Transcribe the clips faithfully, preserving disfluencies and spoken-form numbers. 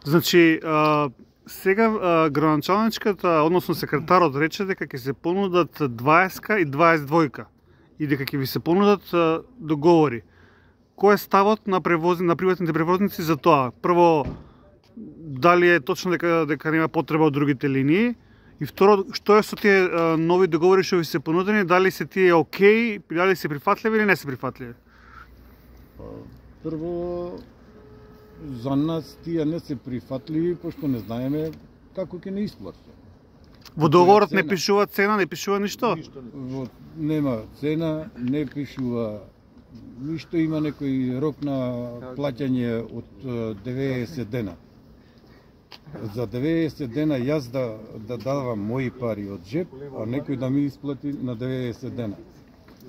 Значи, а, сега а, градоначалничката, односно секретарот рече дека ќе се понудат дваесет и дваесет двојка и дека ќе ви се понудат а, договори. Кој е ставот на превозни, на приватните превозници за тоа? Прво, дали е точно дека дека нема потреба од другите линии? И второ, што е со тие а, нови договори што ви се понудени? Дали се тие окей, дали се прифатливи или не се прифатливи? Прво, за нас тие не се прифатливи, пошто не знаеме како ќе не исплатат. Во договорот не пишува цена, не пишува ништо? Во, нема цена, не пишува ништо, има некој рок на плаќање од деветдесет дена. За деветдесет дена јас да, да давам мои пари од джеп, а некој да ми исплати на деветдесет дена.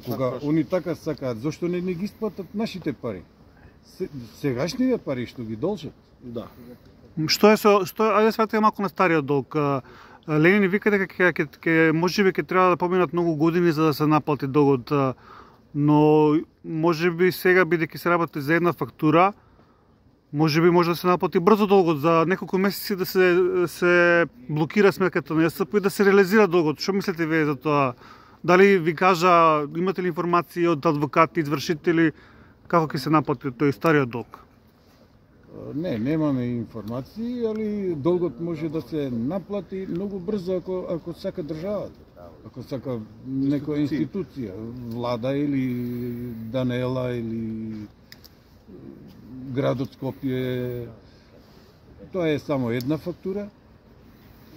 Кога они така сакаат, зошто не, не ги исплатат нашите пари? Сегашните пари што ги должат? Да. Што е со што ајде сватиме малку на стариот долг. Ленин вика дека ќе ќе ќе можеби ќе треба да поминат многу години за да се наплати долгот, но можеби сега бидејќи се работи за една фактура, можеби може да се наплати брзо долгот за неколку месеци да се се блокира сметката на ЈСП и да се реализира долгот. Што мислите вие за тоа? Дали ви кажа, имате ли информации од адвокати, извршители, како ќе се наплати тој стариот долг? Не, немаме информации, али долгот може да се наплати многу брзо ако ако сака државата. Ако сака некоја институција, влада или Данела или градот Скопје. Тоа е само една фактура,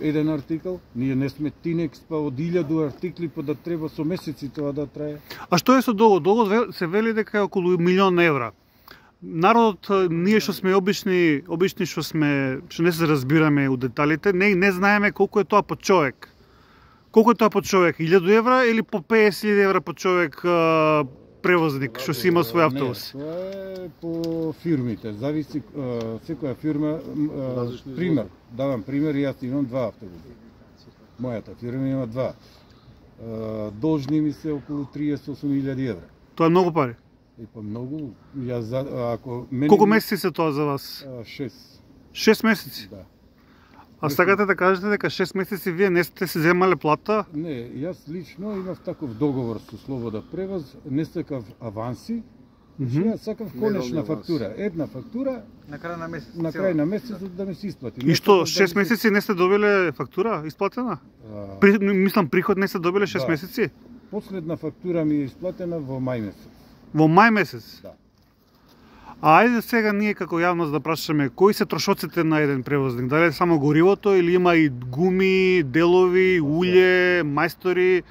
еден артикал. Ние не сме Тинекс, па од илјаду артикли, па да треба со месеци тоа да трае. А што е со долгот? Долгот се вели дека е околу милион евра. Народот, ние што сме обични, обични што сме, што не се разбираме у деталите, не не знаеме колку е тоа по човек. Колку е тоа по човек? илјаду евра или по песет илјади евра по човек а, превозник што си има свој автобус? Не, тоа е по фирмите. Зависи а, секоја фирма. А, пример, давам пример, јас имам два автобуса. Мојата фирма има два. А, должни ми се околу триесет и осум илјади евра. Тоа е многу пари. И па многу, јас за, ако мене... Колку месеци се тоа за вас? Шест. Шест месеци? Да. А сакате да кажете дека шест месеци вие не сте се земале плата? Не, јас лично имав таков договор со Слобода превоз, не сакав аванси, mm -hmm. Јас сакав конечна фактура, една фактура на крај на месец. На крај на месецот да ми се исплати. И што, шест месеци не сте добиле фактура исплатена? А... При, мислам, приход не сте добиле шест да. месеци? Последна фактура ми е исплатена во мај месец. Во мај месец? Да. А ајде сега ние како јавност да прашаме, кои се трошоците на еден превозник? Дали е само горивото или има и гуми, делови, улје, мајстори,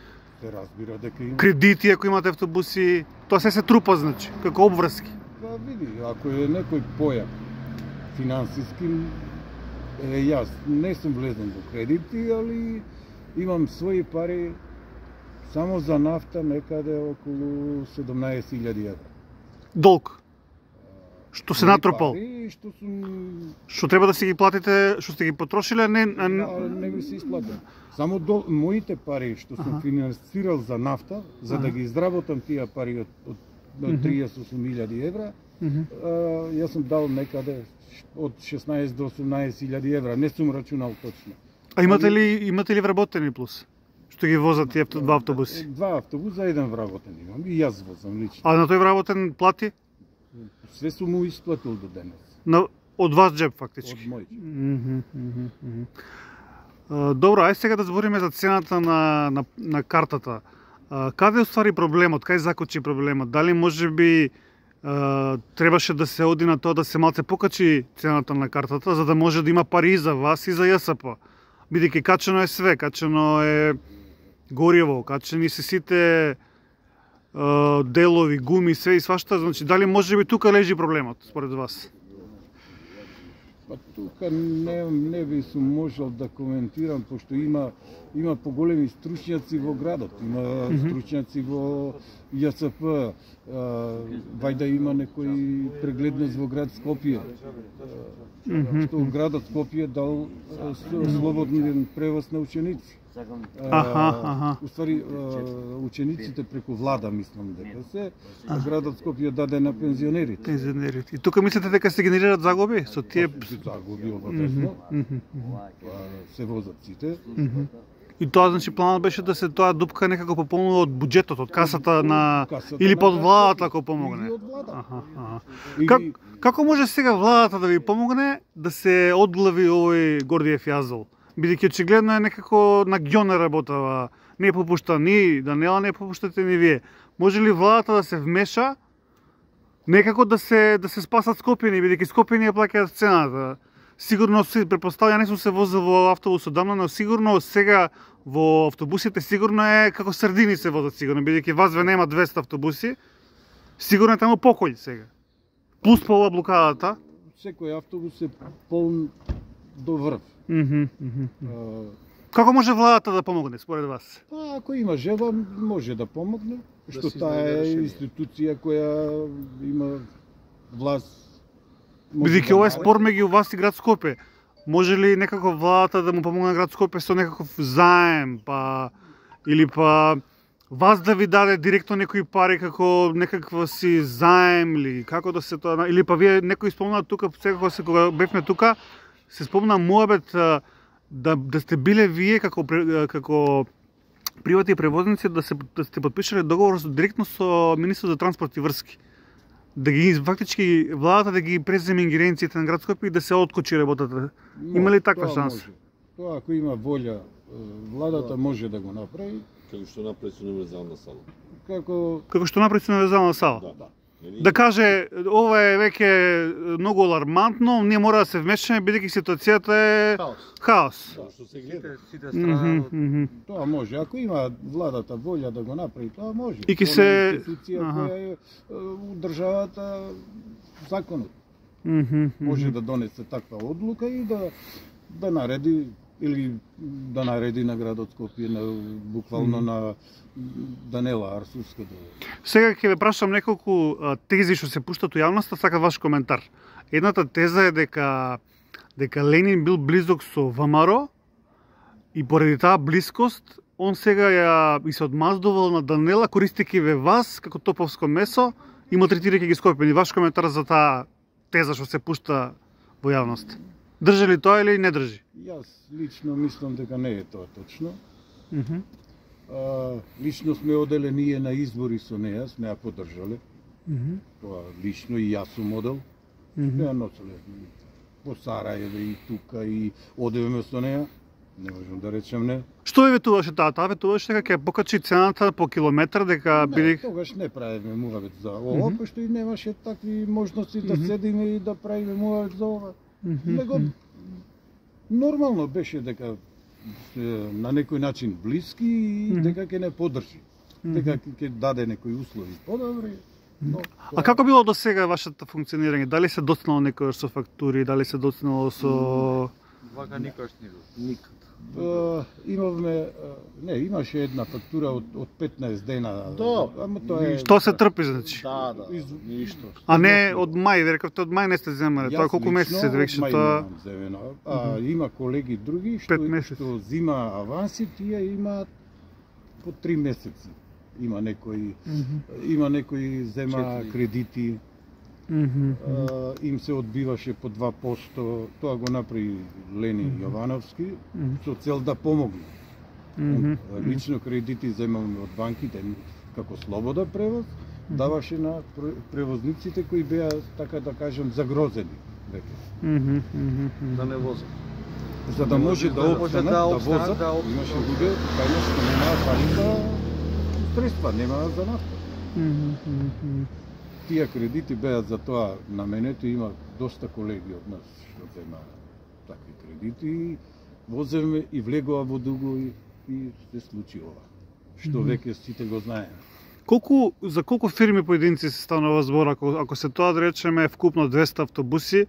се разбира дека има кредити ако имате автобуси, тоа се се трупа значи, како обврски. Па види, ако е некој појак финансиски, е, јас не сум влезен во кредити, али имам своји пари само за нафта некаде околу седумнаесет илјади евра. Долг? Што се натрупал? Пари, што сум... Што треба да си ги платите, што сте ги потрошиле, а не... А... Да, не ми се исплатен. Само до моите пари што сум ага. финансирал за нафта, за ага. да ги изработам тие пари од, од, од триесет и осум илјади евра, uh-huh. а, јас сум дал некаде од шеснаесет до осумнаесет илјади евра, не сум рачунал точно. А имате ли имате ли вработени плюс? Што ги возат тие два автобуси? Два автобуса, еден вработен имам и јас возам лично. А на тој вработен плати? Све сум му исплатил до денес. На, од вас джеб, фактички? Од мој джеб. Mm -hmm, mm -hmm. uh, добро, ајде сега да збориме за цената на, на, на картата. Uh, каде уствари проблемот? Кај закочи проблемот? Дали може би uh, требаше да се оди на тоа да се малце покачи цената на картата, за да може да има пари и за вас и за ЈСП? Бидејќи качено е све, качено е гориво, качени се сите делови, гуми, све и свашта, значи дали може би тука лежи проблемот според вас? Па тука не не би сум можел да коментирам пошто има има поголеми стручњаци во градот, има mm -hmm. стручњаци во ЈСП, вајда има некој прегледност во град Скопје. Mm -hmm. Што градот Скопје дал слободен превоз на ученици. Аха, аха. Уствари, учениците преку влада, мислам дека се, а градот Скопје даде на пензионерите. Пензионерите. И тука мислите дека се генерираат загуби со тие загуби обавезно. Се возат сите. И тоа значи планот беше да се тоа дупка некако пополнува од буџетот, од касата на Касата или на под касата, владата ако помогне. или од влада. Аха, аха. И- Как, како може сега владата да ви помогне да се одглави овој Гордиев јазол? Бидејќи очигледно е некако на ѓоне работава, не попушта ни Данела, не попуштате ни вие. Може ли владата да се вмеша некако да се да се спасат Скопјани, бидејќи Скопјани ја плаќаат цената? Сигурно се претпоставја, не сум се возил во автобус одамна, но сигурно сега во автобусите сигурно е како сардини се возат сигурно, бидејќи вас ве нема двесте автобуси. Сигурно е таму покој сега. Плюс по ова блокадата. Секој автобус е полн до врв. Мгм, мгм. А, Како може владата да помогне според вас? Па, ако има желба, може да помогне, што се таа изнајде е решение. институција која има власт. може Бидејќи да ова е нареди. спор меѓу вас и град Скопје. Може ли некако владата да му помогне на град Скопје со некаков заем, па или па вас да ви даде директно некои пари како некаква си заем или како да се тоа, или па вие некој спомна тука секако се кога бевме тука се спомна муабет а, да да сте биле вие како пре- како приватни превозници да се да сте потпишале договор со директно со министрот за транспорт и врски. Да ги фактички владата да ги преземе ингеренциите на град Скопје и да се откочи работата. Има ли таква Тоа шанса? може. Тоа ако има волја, е, владата може да го направи. Како што направи со универзална сала. Како Како што направи со универзална сала. Да, да. Нели? Да каже, ова е веќе многу алармантно, ние мора да се вмешаме бидејќи ситуацијата е Хаос. хаос. Тоа што се гледа. Сите, сите Мгм, страдаат од мгм. тоа може, ако има владата волја да го направи, тоа може. И ќе Тоа се- е институција аха. која е, е, у државата законот. Мгм, Може мгм. да донесе таква одлука и да да нареди или да нареди на градот Скопје на буквално на Данела Арсувска да Сега ќе ве прашам неколку а, тези што се пуштат у јавноста, сакам ваш коментар. Едната теза е дека дека Ленин бил близок со ВМРО и поради таа блискост он сега ја и се одмаздувал на Данела користејќи ве вас како топовско месо и малтретирајќи ги Скопјани. Ваш коментар за таа теза што се пушта во јавност. Држи ли тоа или не држи? Јас лично мислам дека не е тоа точно. Мгм. А, лично сме оделе ние на избори со неа, сме ја поддржале. Мгм. Тоа лично и јас сум одел. Мгм. Ја носеле по Сарајеве и тука и одевме со неа. Не можам да речем не. Што ви ветуваше таа? Таа ветуваше дека ќе покачи цената по километар, дека Не, бидејќи тогаш не правиме муавет за ова, Мгм. пошто и немаше такви можности да Мгм. седиме и да правиме муавет за ова. Мгм, Него мгм. нормално беше дека е, на некој начин блиски и Мгм. дека ќе не поддржи. Дека ќе даде некои услови подобри. Но, А како било до сега вашето функционирање? Дали се доцнало некојаш со фактури, дали се доцнало со вака никош не бил. Никад. Е, имавме, е, не, имаше една фактура од, од петнаесет дена. Да. Ама тоа е... што се трпи значи? Да, да, Из- ништо. А не од мај, ве рековте од мај не сте земале. Тоа Јас колку лично месеци веќе мај тоа немам земено. А има колеги други што Пет месеци. што зима аванси, тие имаат по три месеци. Има некои има некои зема Четири. кредити, Мгм. а, им се одбиваше по два посто. Тоа го направи Лени Јовановски Мгм. со цел да помогне. Мгм. Он, лично кредити земаме од банките како слобода превоз, даваше на пр- превозниците кои беа, така да кажем, загрозени веќе. Мгм, мгм, мгм. Да не возат. За да може да да може опстанат, да да опстанат, возат, да опстанат. имаше луѓе кај што немаат пари за средства, немаат за нафта. Мгм, мгм, мгм. Тие кредити беа за тоа наменети, има доста колеги од нас што зема такви кредити, и воземе и влегува во дуго и, и се случи ова. Што веќе сите го знаеме. Колку за колку фирми поединци се станува збор ако ако се тоа да речеме вкупно двесте автобуси,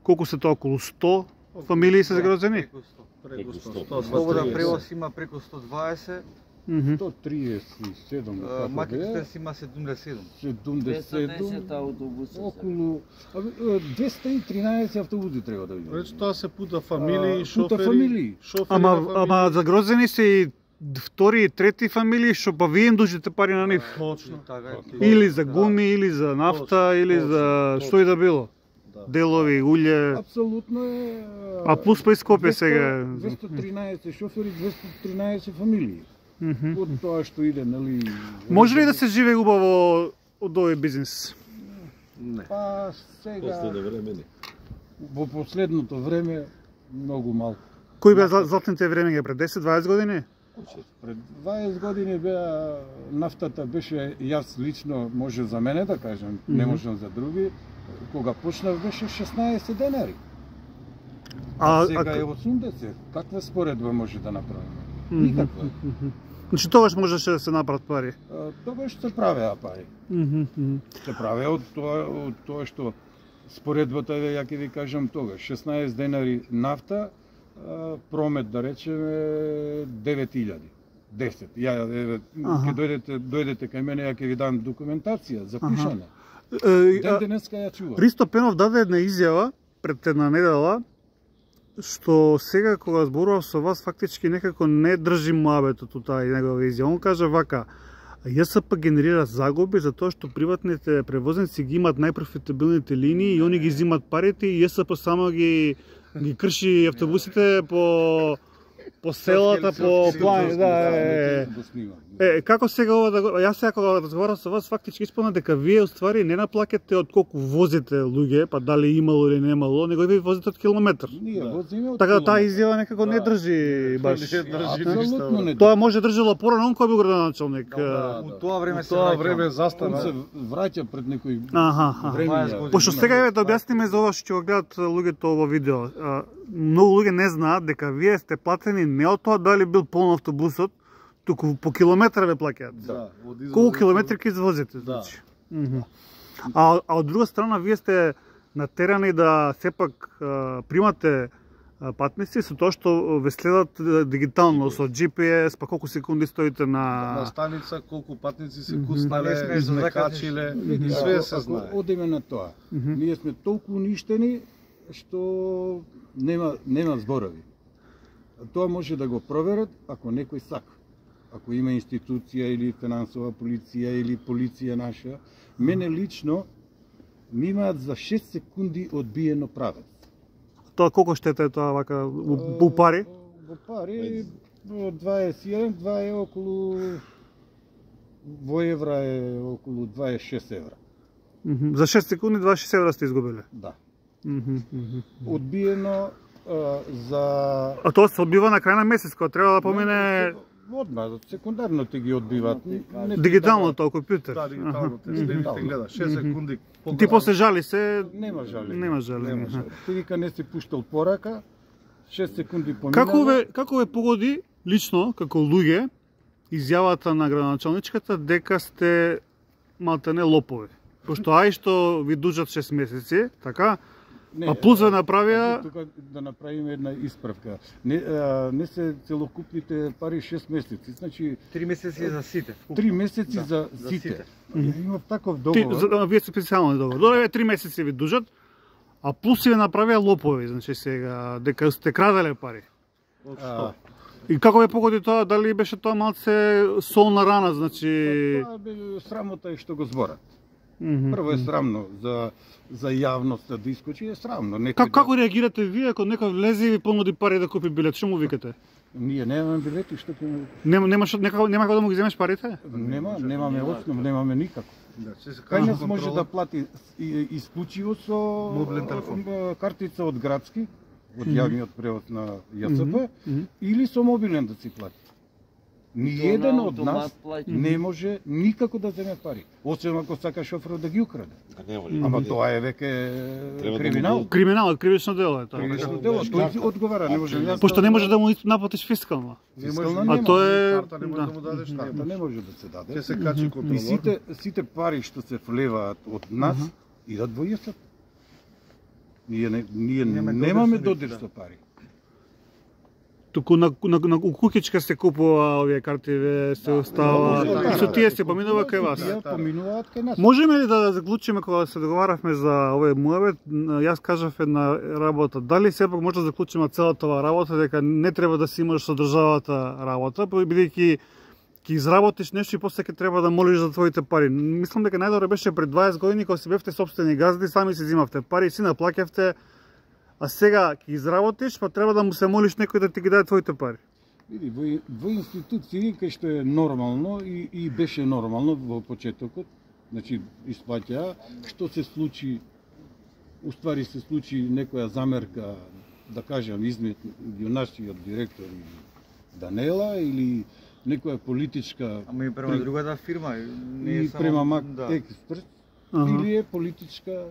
колку се тоа околу сто фамилии се загрозени? Преку сто. Преку Преку сто. сто. сто. Слободен триесет. превоз има преку сто дваесет, Мгм. сто триесет и седум како Макетите беа, си има седумдесет и седум. седумдесет и седум, двеста десет автобуса. околу абе, двеста и тринаесет автобуси треба да видиме. Рече тоа се пута фамилии, А, шофери, пута фамилии. шофери Ама, на фамилии. ама загрозени се и втори и трети фамилии, што па вие им дужите пари на нив. Точно. Така е. Или за гуми, или за нафта, Точно, или точно, за точно. што и да било. Да. Делови, улје. Апсолутно е. А плюс па и Скопје двеста- сега. двеста и тринаесет шофери, двеста и тринаесет фамилии. Мгм. Од тоа што иде, нели? Може ли да се живее убаво од овој бизнес? Не. Па сега Последно време не. во последното време многу малку. Кои беа зла- златните времења пред десет-дваесет години? Пред дваесет години беа нафтата беше, јас лично може за мене да кажам, не Мгм. можам за други, кога почнав беше шеснаесет денари. А, А сега а- е осумдесет. Каква споредба може да направиме? Мгм. Никаква. Мгм. Значи тогаш можеше да се направат пари. А, Тогаш се правеа пари. Мгм, мгм. Се правеа од тоа, од тоа што споредбата е, ја ќе ви кажам тогаш, шеснаесет денари нафта, а, промет да речеме девет илјади. десет. Ја еве Аха. ќе дојдете дојдете кај мене, ја ќе ви дам документација запишана. Е, Ден а, денеска ја чувам. Ристо Пенов даде една изјава пред една недела, што сега кога зборував со вас фактички некако не држи муабетот у таа негова изјава. Он кажа вака: ЈСП генерира загуби за тоа што приватните превозници ги имаат најпрофитабилните линии и они ги земат парите и ЈСП само ги ги крши автобусите по по селата, по плани, да, е, е. Е, како сега ова да го... Јас сега кога разговарам со вас, фактички исполна дека вие уствари не наплакате од колку возите луѓе, па дали имало или немало, него вие возите од километар. Ние возиме од Така да таа километар. изјава некако не Да. држи баш. Не држи Апсолутно ништа. не. Тоа може држало порано, кој бил градоначалник. Да, У тоа време У се тоа враќам. време Он застана. се враќа пред некои Аха, аха. времења. дваесет години. Пошто сега еве да објасниме за ова што ќе го гледат луѓето ово видео. А, Многу луѓе не знаат дека вие сте платени не од тоа дали бил полн автобусот, туку по километар ве плаќаат. Да, од извоз- Колку километри ќе извозите, Да. значи. Мгм. А, а од друга страна вие сте натерани да сепак а, примате а, патници со тоа што ве следат а, дигитално со Джи Пи Ес, па колку секунди стоите На на станица колку патници се Мгм. Ма не куцнале, смееш да измекачиле, Види, све ако- се ако знае. Одеме на тоа. Мгм. Ние сме толку уништени што нема нема зборови. Тоа може да го проверат ако некој сака. Ако има институција или финансова полиција или полиција наша, мене лично ми имаат за шест секунди одбиено правец. тоа колку штета е тоа вака у, у пари? Во пари во дваесет и еден, два е околу во евра е околу дваесет и шест евра. Мгм. За шест секунди дваесет и шест евра сте изгубиле. Да. Мгм, мгм. Одбиено а, за А тоа се одбива на крај на месец, кога треба да помине одма, секундарно ти ги одбиват. Не ти дигитално даваат- тоа компјутер. Да, дигитално те Мгм. следи, те гледа шест секунди. Ти погано. после жали се Нема жалење. нема жали. Нема аха. жали. Ти вика не си пуштал порака, шест секунди поминало. Како ве како ве погоди лично како луѓе изјавата на градоначалничката дека сте малтене лопови? Пошто ај што ви дужат шест месеци, така? Не, А плюс ве а, направија- тука да направиме една исправка. Не, а, не се целокупните пари шест месеци, значи Три месеци за сите. вкупно. три месеци Да, за за сите. сите. Имав таков Ти, договор. за, а, вие сте специјални договор. Добре, еве три месеци ви дужат, а плюс си ве направија лопови, значи сега дека сте краделе пари. Од А, што? И како ве погоди тоа, дали беше тоа малце солна рана, значи... Тоа бе срамота е што го зборат. Мгм. Прво е срамно за за јавноста да искочи, е срамно. Некој Како, да- како реагирате вие ако некој влезе и ви понуди пари да купи билет? Што му викате? Ние немаме билети, што ќе Нема немаш некако нема како да му ги земеш парите? нема, немаме основ, немаме никако. Да, се се Кај кажа нас може контрола. да плати и- исклучиво со Мобилен телефон. а, картица од градски, од јавниот превоз на ЈСП, Мгм. или со мобилен да си плати. Ниеден од нас не може никако да земе пари, освен ако сака шоферот да ги украде. А нема Мгм. ли? Ама тоа е веќе Треба да криминал. му Криминал, кривично дело е тоа. Кривично дело, тој одговара, не може јас. Пошто не може да му наплатиш фискално. Не Фискална може, нема. А тоа е карта не може да. да му дадеш, Карта не не може. може да се даде. Ќе се качи И контролор. сите сите пари што се влеваат од нас идат во ЈСП. Ние не, ние Нема немаме додир со додир нив, со пари. Туку на, на, на у кукичка се купува овие карти, ве се остава. да, И со да, тие да, се поминува кај вас. Тие поминуваат кај нас. Можеме ли да заклучиме кога се договаравме за овој муабет, јас кажав една работа. Дали сепак може да заклучиме целата оваа работа дека не треба да си имаш со државата работа, бидејќи ќе изработиш нешто и после ќе треба да молиш за твоите пари. Мислам дека најдобро беше пред дваесет години кога си бевте сопствени газди, сами си зимавте пари, си наплаќавте, а сега ќе изработиш, па треба да му се молиш некој да ти ги даде твоите пари. Види, во, во институции кај што е нормално и, и беше нормално во почетокот, значи исплаќа, што се случи, уствари се случи некоја замерка, да кажам, измеѓу нашиот директор и Данела или некоја политичка Ама и према при- другата фирма, не е и само према Мак да. Експерт, Аха. или е политичка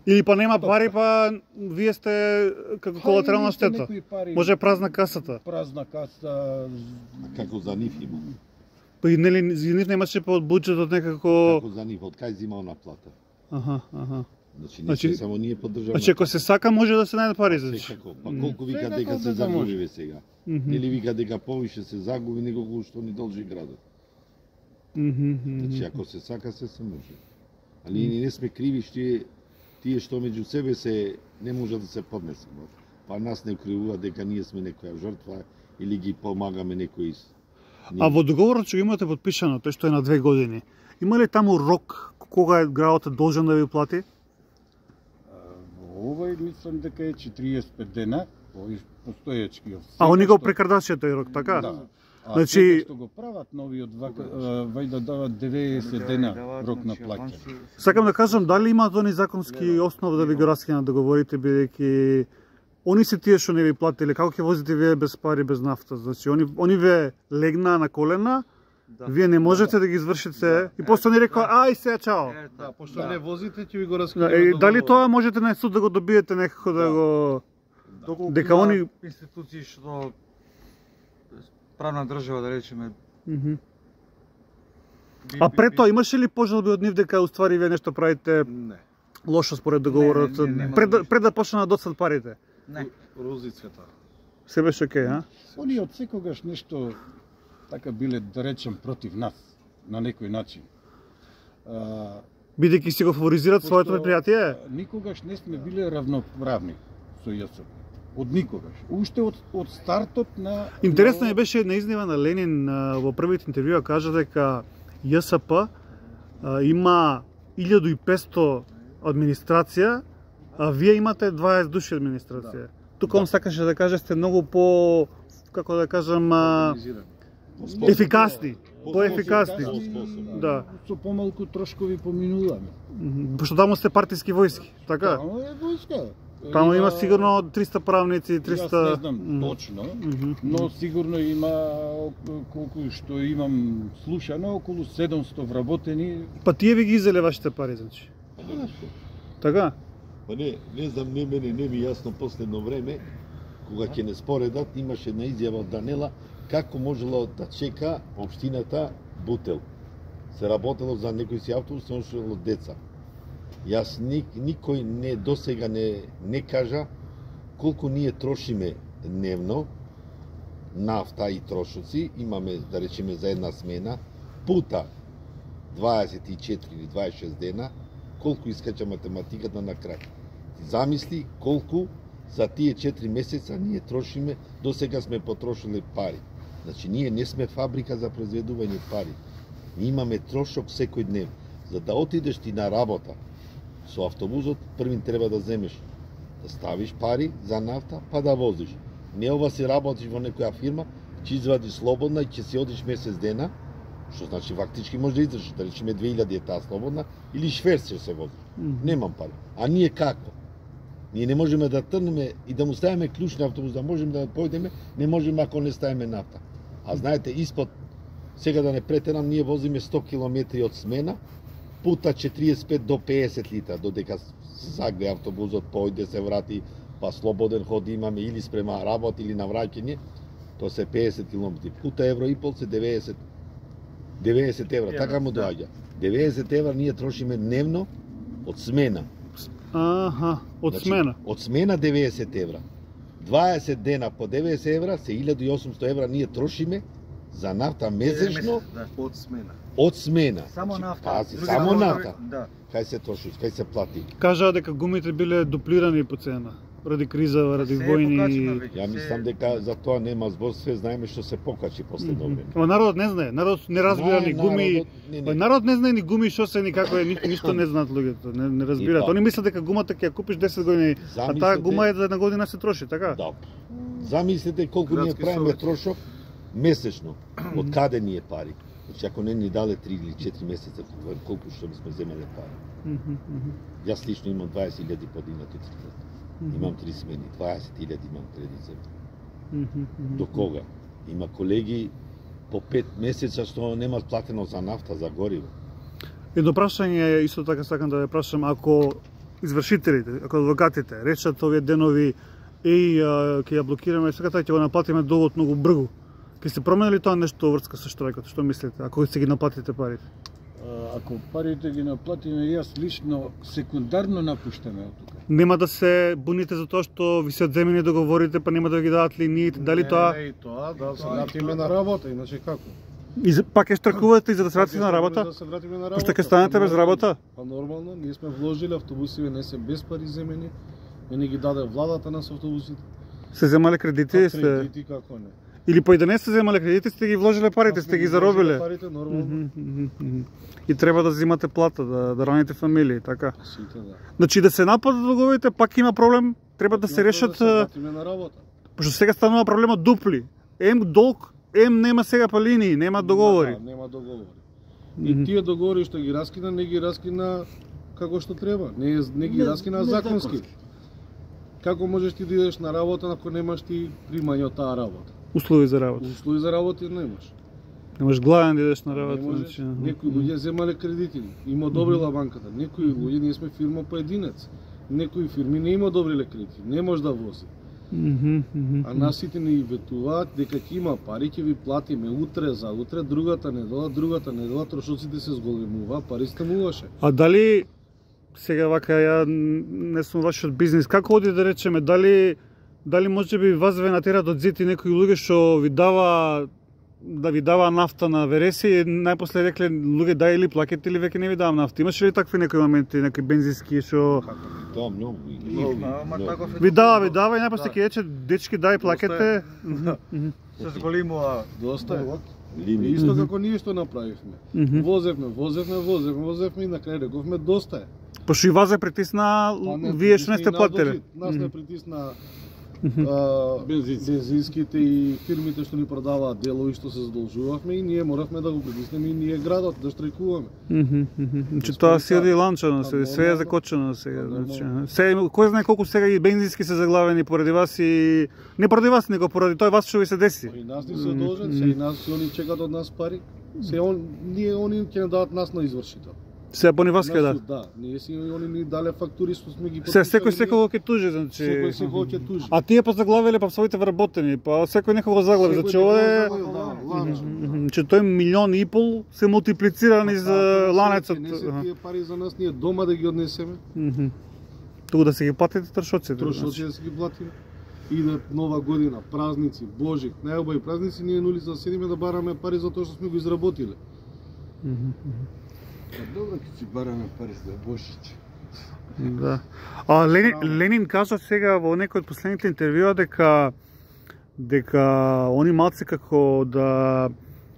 Или па нема пари, па вие сте како колатерална штета. некои пари, Може е празна касата. празна каса. А како за нив има? Па и нели за нив немаше па од буџетот некако. Како за нив, од кај зимал на плата? Аха, аха. Значи, не Значи- се само ние поддржаваме. Значи ако се сака може да се најде пари за тоа. Секако. Па колку вика Секако дека се да загуби може. ве сега? Мгм. Или вика дека повише се загуби него што ни должи градот. Мгм, мгм. Значи ако се сака се се може. Али ние не сме криви што тие тие што меѓу себе се не може да се поднесеме. Па нас не кривува дека ние сме некоја жртва или ги помагаме некои. А во договорот што го имате подпишано, тој што е на две години, има ли таму рок кога е градот должен да ви плати? Во овој мислам дека е четириесет и пет дена, овој постоечки. А они го прекрадаше тој рок, така? Да. А Значи- значи што го прават новиот вака, вајда дават деветдесет дена рок на плаќање. Сакам да кажам дали имаат они законски основ да ви го раскинат договорите, бидејќи они се тие што не ви платиле, како ќе возите вие без пари, без нафта? Значи они они ве легнаа на колена, вие не можете да ги извршите и после они рекоа ај се чао. Е, Да, да. пошто не возите, ќе ви го Да, раскинеме. е, дали договор. тоа можете на суд да го добиете некако да го Доколку дека има они- институции што правна држава да речеме. Мгм. би- А би- пред би- тоа имаше ли пожалби од нив дека уствари вие нешто правите Не. лошо според договорот Не, не, не, нема пред да- ништо. пред да почне да доцнат парите? Не. Рози цвета. Се беше окей, а? Они од секогаш нешто така биле, да речем, против нас, на некој начин. А, Бидејќи си го фаворизираат своето пошто, предпријатие? а, Никогаш не сме биле равноправни со ЈСП. Од никогаш. Уште од, од стартот на... Интересна на- ми беше една изнива на Ленин а, во првите интервјуа, кажа дека ЈСП а, има илјаду и петсто администрација, а вие имате дваесет души администрација. Тука он сакаше да каже сте многу по, како да кажам, а, Организирани. ефикасни, поефикасни. И Да. Со помалку трошкови поминуваме. Мгм. Пошто таму сте партиски војски, така? Таму е војска. Таму има Има- сигурно триста правници, триста... Јас не знам Мгм. точно, Мгм. но сигурно има око- колку што имам слушано, околу седумсто вработени. Па тие ви ги изеле вашите пари, значи. Така? Па не, не знам, не мене не ми јасно последно време, кога ќе не споредат, имаше една изјава од Данела како можело да чека општината Бутел. Се работело за некој си автобус, се носело деца. Јас ник, никој не досега не не кажа колку ние трошиме дневно нафта и трошоци, имаме да речеме за една смена пута дваесет и четири или дваесет и шест дена, колку искача математиката на крај. Замисли колку за тие четири месеца ние трошиме, до сега сме потрошиле пари. Значи ние не сме фабрика за произведување пари. Ние имаме трошок секој днев. За да отидеш ти на работа со автобусот, првин треба да земеш, да ставиш пари за нафта, па да возиш. Не ова си работиш во некоја фирма, ќе извадиш слободна и ќе си одиш месец дена, што значи фактички може да издржиш, да речеме две илјади е таа слободна, или шверц ќе се возиш. Немам пари. А ние како? Ние не можеме да трнеме и да му ставиме клjuč на автобус, да можеме да појдеме, не можеме ако не ставиме нафта. А знаете, испод, сега да не претерам, ние возиме сто километри од смена, пута четириесет и пет до пеесет литра, додека се загне автобусот, појде, се врати, па слободен ход имаме или спрема работа или на враќање, тоа се пеесет километри. Пута евро и пол се деветдесет, деветдесет евра, така му доаѓа. деветдесет евра ние трошиме дневно од смена. Аха, од Значи, смена. Од смена деветдесет евра. дваесет дена по деветдесет евра, се илјаду и осумсто евра ние трошиме за нафта месечно Од смена. од смена. Само Значи, нафта. пази, Други само работи- нафта. Да. Кај се троши, кај се плати. Кажаа дека гумите биле дуплирани по цена, ради криза, ради Се е војни. покачено веќе, Ја се- мислам дека за тоа нема збор, све знаеме што се покачи последно време. Ама народот не знае, народот не разбира ни Знае гуми. народот, не, не. Па народ не знае ни гуми што се ни како е, ни, ништо не знаат луѓето, не, не разбираат. И па- Они мислат дека гумата ќе ја купиш десет години, а таа Замислете- гума е за една година се троши, така? Да. Замислете колку ние Градски правиме совет. трошок месечно. Од каде ни е пари? Значи ако не ни дале три или четири месеца, колку што сме земеле пари. Мгм, мгм. Јас лично имам дваесет илјади подигнати три. Имам три смени, дваесет илјади имам кредит земја. Мгм, мгм. До кога? Има колеги по пет месеца што немаат платено за нафта, за гориво. Едно прашање исто така сакам да ве прашам, ако извршителите, ако адвокатите речат овие денови еј а, ќе ја блокираме секата ќе го наплатиме долгот многу брзо. Ќе се промени ли тоа нешто врска со штрајкот? Што мислите? Ако ќе ги наплатите парите? А, Ако парите ги наплатиме, јас лично секундарно напуштаме од тука. Нема да се буните за тоа што ви се одземени договорите, па нема да ги дадат линиите, дали Не, тоа Не, и тоа, да се вратиме на работа, иначе како? и за- пак ќе штракувате и за да се вратите на работа? Да се вратиме на Пошто работа. ќе станете Па без нормално. работа? Па нормално, ние сме вложили автобусиве, не се без пари земени, и не ги даде владата на автобусите. Се земале кредити, Па сте кредити како не. или па и да не се земале кредити, сте ги вложиле парите, Па сте сме ги вложили заробиле. Парите нормално. Мгм, мгм, мгм. И треба да взимате плата, да, да раните фамилии, така. Сите да. Значи да се нападат договорите, пак има проблем, треба да се решат, Да се вратиме на работа. пошто сега станува проблема дупли. Ем долг, ем нема сега па линии, нема договори. Да, нема договори. Мгм. И тие договори што ги раскина, не ги раскина како што треба. Не, е- не ги Не- раскина не законски. законски. Како можеш ти да идеш на работа ако немаш ти примање од таа работа? Услови за работа. Услови за работа немаш. Немаш гладен да идеш на Не работа. можеш. Значи, аха. Некои луѓе земале кредити, им одобрила банката. Некои луѓе, ние сме фирма поединец. Некои фирми не им одобриле кредити, не може да вози. Мгм, мгм. А нас сите ни ветуваат дека ќе има пари, ќе ви платиме утре за утре, другата недела, другата недела, трошоците се зголемува, пари стамуваше. А дали сега вака ја не сум вашиот бизнис, како оди да речеме, дали дали можеби вас ве натерат од зид и некои луѓе што ви дава да ви дава нафта на вереси и најпосле рекле луѓе дај или плакете или веќе не ви давам нафта. Имаше ли такви некои моменти, некои бензински што Тоа многу. и- Многу. и- Ама многу. таков е ви дава, ви договор. дава и најпосле ќе рече дечки дај плакете. Да. Се зголимува. Доста е. И Лимит. исто како ние што направивме. Мгм. Возевме, возевме, возевме, возевме и на крај рековме доста е. Пошто и вас е притисна, Па не, вие што не сте притисна и нас плателе. дожи. Нас не притисна Мгм. а, Бензински. бензинските и фирмите што ни продаваат делови што се задолжувавме и ние моравме да го притиснеме и ние градот да штрajкуваме. Мгм, мгм. Значи Сме тоа и си оди така. ланчано, Па се, све е нормално. закочено сега. Па Значи, нормално. се, кој знае колку сега и бензински се заглавени поради вас и не поради вас, него поради тоа вас што ви се деси. И нас ни се должен, се и нас се они чекаат од нас пари. Се он ние они ќе не дадат нас на извршител. Се по ни вас ќе На да. суд, Да, ние си они ни дале фактури што сме ги Се секој потписали, секој ќе тужи, значи. Секој секој ќе тужи. А тие па заглавиле па своите вработени, па секој некого заглави, Секој значи ова е некој заглавил, да, ланчо. Мгм, че тој милион и пол се мултиплицирани за ланецот. Не се Аха. тие пари за нас, ние дома да ги однесеме, Мгм. Туку да се ги платите трошоците. трошоци да си ги платиме. Иде нова година, празници, Божик, најубави празници, ние на улица да седиме да бараме пари за тоа што сме го изработиле. Мгм. Па добро ќе си бараме пари за Бошич. Да. А Ленин, Ленин кажа сега во некој од последните интервјуа дека дека они малце како да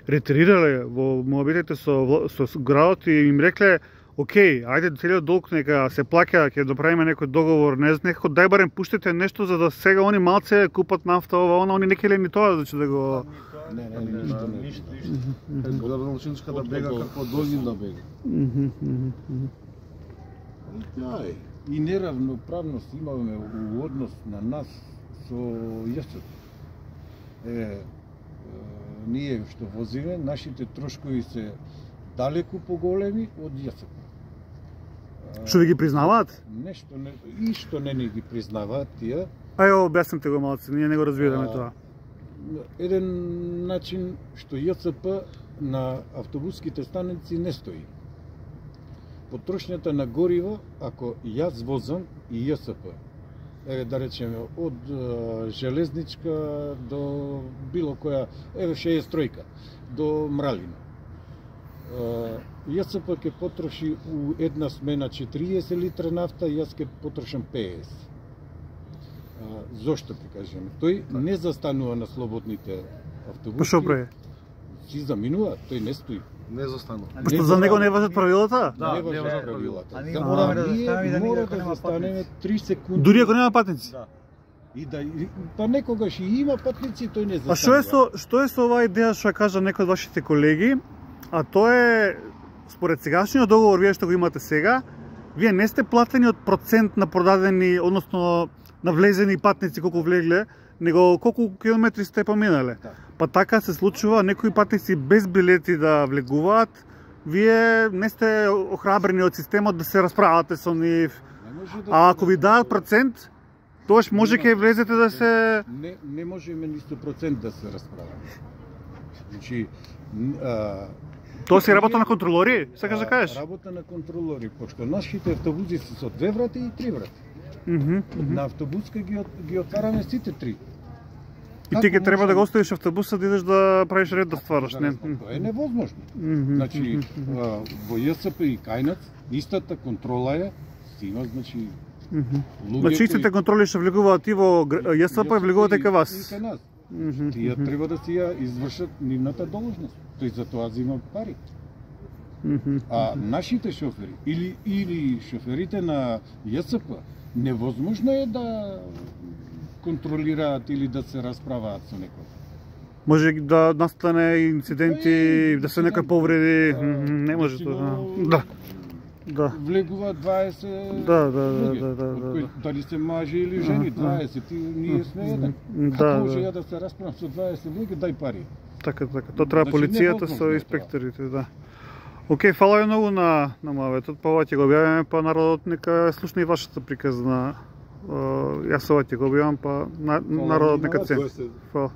ретирирале во моабитите со вла- со градот и им рекле окей, ајде целиот долг нека се плаќа, ќе доправиме некој договор, не знам, некако дај барем пуштите нешто за да сега они малце купат нафта, ова, она, они не келе ни тоа, значи да го Не, не, не, ништо не. Ништо, ништо. Градоначалничка да бега како Долгин да бега. Мгм, мгм, мгм. Тоа е. И неравноправност имаме у однос на нас со ЈСП. Е, е, ние што возиме, нашите трошкови се далеку поголеми од ЈСП. Што ви ги признаваат? Нешто не, и што не ни ги признаваат тие. Ај, објаснете го малце, ние не го разбираме А, тоа. Еден начин што ЈСП на автобуските станици не стои. Потрошњата на гориво, ако јас возам и ЈСП еве да речеме од е, железничка до било која, еве шеесет тројка до Мралина. ЈСП ќе потроши у една смена четириесет литра нафта, јас ќе потрошам пеесет. Зошто ќе кажеме? Тој не застанува на слободните автобуси. Па што прави? Си заминува, тој не стои. Не застанува. Што за него не важат правилата? Да, не не важат важат правилата. А ние За- мораме да ние застанеме да мора никако да нема застанеме патници. три секунди. Дури ако нема патници. Да. И да, и- па некогаш и има патници, тој не застанува. А што е со што е со оваа идеја што ја кажа некој од вашите колеги? А тоа е според сегашниот договор вие што го имате сега, вие не сте платени од процент на продадени, односно на влезени патници колку влегле, него колку километри сте поминале. Да. Па така се случува некои патници без билети да влегуваат, вие не сте охрабрени од системот да се расправате со нив. Не може да А се ако ви дадат процент, тогаш може ќе влезете да се Не, не можеме ни сто процент да се расправаме. Значи, н- а, тоа си работа на контролори, сакаш да а, кажеш? Работа на контролори, пошто нашите автобуси се со две врати и три врати. Мгм, мгм. На автобуска ги, от- ги отвараме сите три. И ти ќе Како треба да го можеме- оставиш автобуса да идеш да правиш ред да ствараш, не? Тоа е невозможно. Мгм, Значи, мгм, а, во ЈСП и Кајнац, истата контрола е, си има, значи, мгм. луѓе Значи истите контроли што влегуваат и во гр- ЈСП и влегуваат и кај И вас. кај нас. Мгм, Тие мгм, треба да си ја извршат нивната должност. Тој за тоа зема пари. мгм. А нашите шофери или или шоферите на ЈСП невозможно е да контролираат или да се расправаат со некој. Може да настане инциденти, Е, да се инцидент. некој повреди, А, мгм, не може речено, тоа. Да. Да. Влегува дваесет Да, да, да, луѓе, да, да, од да, кои да. дали се мажи или жени, Аха. дваесет, и ние сме еден. Да, Како може да. ја да се расправам со дваесет луѓе, дај пари. Така, така. Тоа треба Значи, полицијата невозможно со е тоа. инспекторите, да. Океј, фала ви многу на на моветот, па ова ќе го објавиме, па народот нека слушне и вашата приказна. Јас ова ќе го објавам, па на- народот нека на цени. Тоа се Фала.